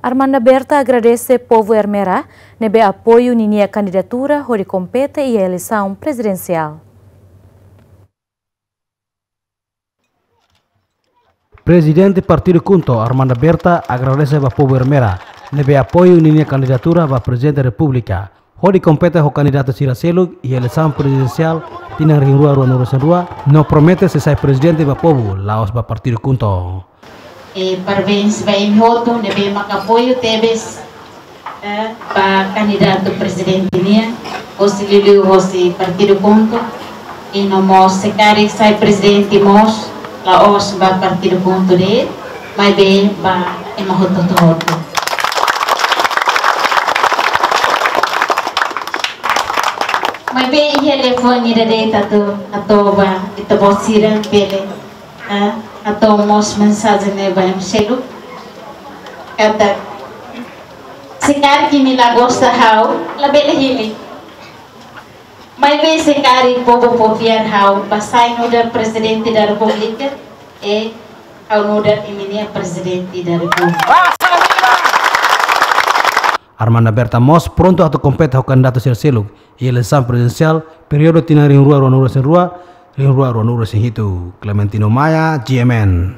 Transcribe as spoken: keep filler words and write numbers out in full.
Armanda Berta agradese povu Ermera ne'ebé apoiu ninia kandidatura hodi kompete iha eleisaun prezidensiál. Prezidente Partidu KHUNTO, Armanda Berta, agradese ba povu Ermera ne'ebé apoiu ninia kandidatura ba Prezidente Repúblika hodi kompete ho kandidatu sira seluk iha eleisaun prezidensiál tinan rihun rua ruanulu-resin-rua, no promete sei sai prezidente ba povu, la'ós ba Partidu KHUNTO. E parabéns ba imi hotu ne'ebé maka apoiu tebes, eh, ba kandidatu prezidente nian, hosi liuliu hosi Partidu KHUNTO, i no mós se karik sai prezidente mós, la'ós ba Partidu KHUNTO de'it, maibé ba ema hotu-hotu. Maibé iha liafuan ida de'it atu hato'o ba ita-boot sira bele, ah, hato'o mós mensajen ne'e ba ema seluk. Katak, se karik imi la gosta ha'u, labele hili. Maibé se karik povu fó fiar ha'u ba sai nu'udar Prezidente da Repúblika, e ha'u nu'udar imi-nia Prezidente da Repúblika. Armanda Berta mós prontu atu kompete ho kandidatu sira seluk iha eleisaun prezidensiál períodu tinan rihun rua ruanulu-resin-rua, rihun rua ruanulu-resin-hitu. Clementino Maia, G M N.